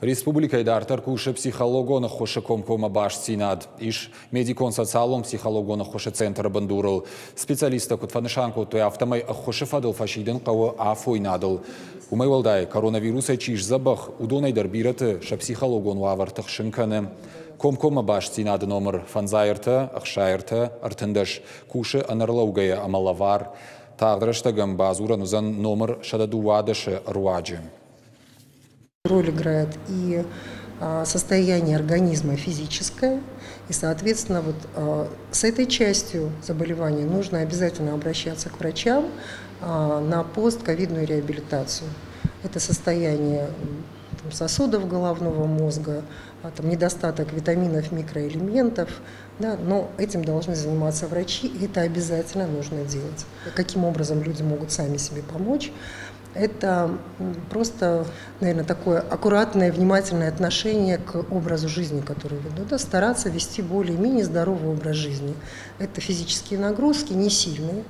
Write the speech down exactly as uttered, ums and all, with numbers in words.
Республикӕйы дарддӕр кусы психологон ӕххуысы комкоммӕ бастдзинад. Ис медикон-социалон психологон ӕххуысы центры бындурыл. Специалисттӕ куыд фӕнысан кодтой, афтӕмӕй ӕххуысы фӕдыл фӕсидын хъӕуы афойнадыл. Уымӕй уӕлдай, коронавирусӕй чи сдзӕбӕх, уыдонӕй дӕр бирӕты сӕ психологон уавӕр тыхсын кӕны. Комкоммӕ бастдзинады номыр фӕндзай ӕртӕ, ӕхсай ӕртӕ, ӕртындӕс кусы ӕнӕрлӕугӕйӕ ӕмӕ лӕвар. Тагъд рӕстӕг ӕм бадзурӕн уыдзӕн номыр сӕдӕ дыууадӕсы руаджы. Роль играет и состояние организма физическое, и, соответственно, вот с этой частью заболевания нужно обязательно обращаться к врачам на постковидную реабилитацию. Это состояние там, сосудов головного мозга, там, недостаток витаминов, микроэлементов, да, но этим должны заниматься врачи, и это обязательно нужно делать. Каким образом люди могут сами себе помочь? Это просто, наверное, такое аккуратное, внимательное отношение к образу жизни, который ведут. Да, стараться вести более-менее здоровый образ жизни. Это физические нагрузки, не сильные.